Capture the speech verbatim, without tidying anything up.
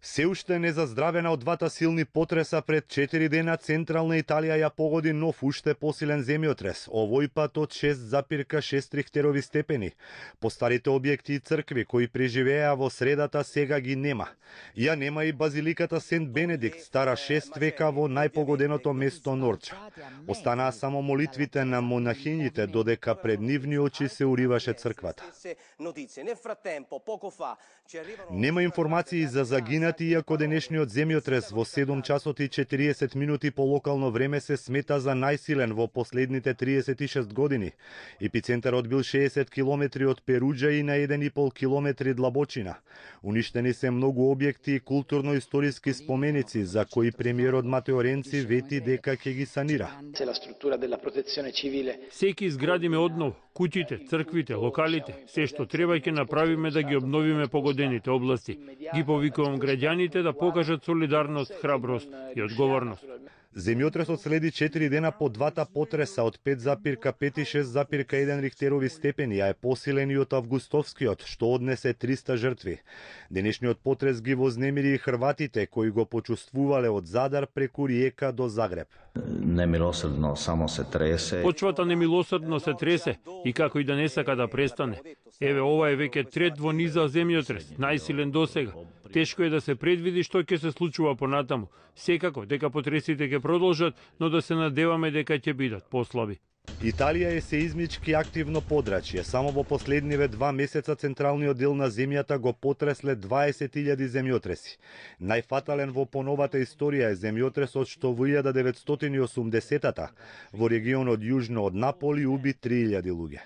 Се уште незаздравена од двата силни потреса пред четири дена, централна Италија ја погоди нов уште посилен земјотрес, овој пат од шест запирка шест рихтерови степени. По старите објекти и цркви кои преживеа во средата сега ги нема. Ја нема и базиликата Сент Бенедикт, стара шест века во најпогоденото место Норча. Останаа само молитвите на монахињите, додека пред нивни очи се уриваше црквата. Нема информации за загинати, иако денешниот земјотрес во седум часот и четириесет минути по локално време се смета за најсилен во последните триесет и шест години. Епицентарот бил шеесет километри од Перуџа и на еден и пол километри длабочина. Уништени се многу објекти и културно-историски споменици, за кои премиерот Матео Ренци вети дека ќе ги санира. Секи изградиме однов, куќите, црквите, локалите, се што треба ќе направиме да ги обновиме погодените области. Ги повикувам граѓаните да покажат солидарност, храброст и одговорност. Земјотресот следи четири дена по двата потреса од пет запирка пет и шест запирка еден рихтерови степени, а е посилен и од августовскиот, што однесе триста жртви. Денешниот потрес ги вознемири и хрватите, кои го почувствувале од Задар преку Риека до Загреб. Немилосрдно само се тресе. Почвата немилосрдно се тресе и како и да не сака да престане. Еве, ова е веќе трет во низа земјотрес, најсилен досега. Тешко е да се предвиди што ќе се случува понатаму. Секако дека потресите ќе продолжат, но да се надеваме дека ќе бидат послаби. Италија е сеизмички активно подрачје. Само во последниве два месеца централниот дел на земјата го потресле дваесет илјади земјотреси. Најфатален во поновата историја е земјотресот што во илјада деветстотини и осумдесетата во регионот јужно од Наполи уби три илјади луѓе.